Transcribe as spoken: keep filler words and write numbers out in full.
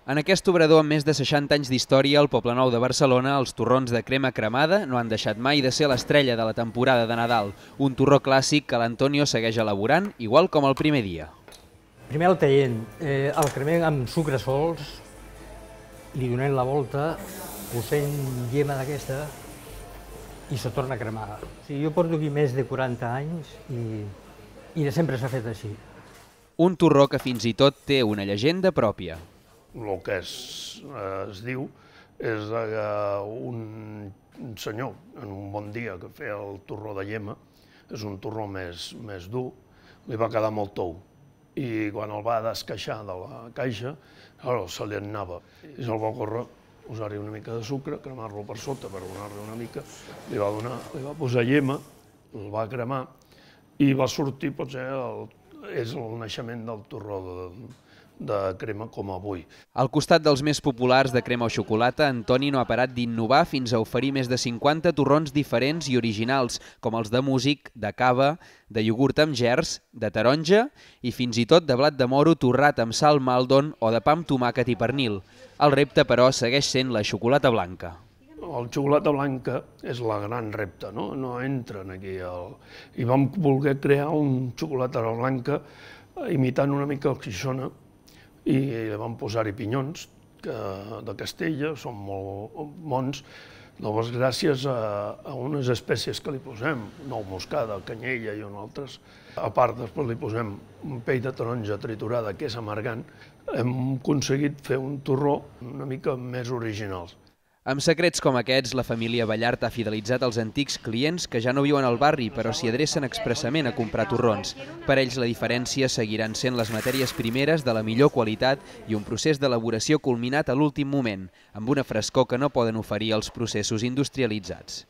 En aquest obrador amb més de seixanta anys d'història al Poblenou de Barcelona, els torrons de crema cremada no han deixat mai de ser l'estrella de la temporada de Nadal, un torró clàssic que l'Antonio segueix elaborant, igual com el primer dia. Primer el taient, eh, el cremem amb sucre sols, li donem la volta, posem llema d'aquesta i se torna a cremar. O sigui, jo porto aquí més de quaranta anys i, i de sempre s'ha fet així. Un torró que fins i tot té una llegenda pròpia. El que es, es diu és que un senyor, en un bon dia que feia el torró de llema, és un torró més, més dur, li va quedar molt tou. I quan el va descaixar de la caixa, ara se li anava. I se'l va córrer, posar-hi una mica de sucre, cremar-lo per sota per donar-li una mica, li va, donar, li va posar llema, el va cremar i va sortir, potser, el, és el naixement del torró de, de crema com avui. Al costat dels més populars de crema o xocolata, Antoni no ha parat d'innovar fins a oferir més de cinquanta torrons diferents i originals, com els de músic, de cava, de iogurt amb gerds, de taronja i fins i tot de blat de moro torrat amb sal Maldon o de pa amb tomàquet i pernil. El repte, però, segueix sent la xocolata blanca. El xocolata blanca és la gran repte, no? No entren aquí. El... I vam voler crear un xocolata blanca imitant una mica el Xixona, i vam posar-hi pinyons que, de Castella, són molt bons, llavors gràcies a, a unes espècies que li posem, nou moscada, canyella i unes altres. A part, després li posem un pell de taronja triturada, que és amargant, hem aconseguit fer un torró una mica més original. Amb secrets com aquests, la família Ballart ha fidelitzat els antics clients que ja no viuen al barri, però s'hi adrecen expressament a comprar torrons. Per ells la diferència seguiran sent les matèries primeres de la millor qualitat i un procés d'elaboració culminat a l'últim moment, amb una frescor que no poden oferir els processos industrialitzats.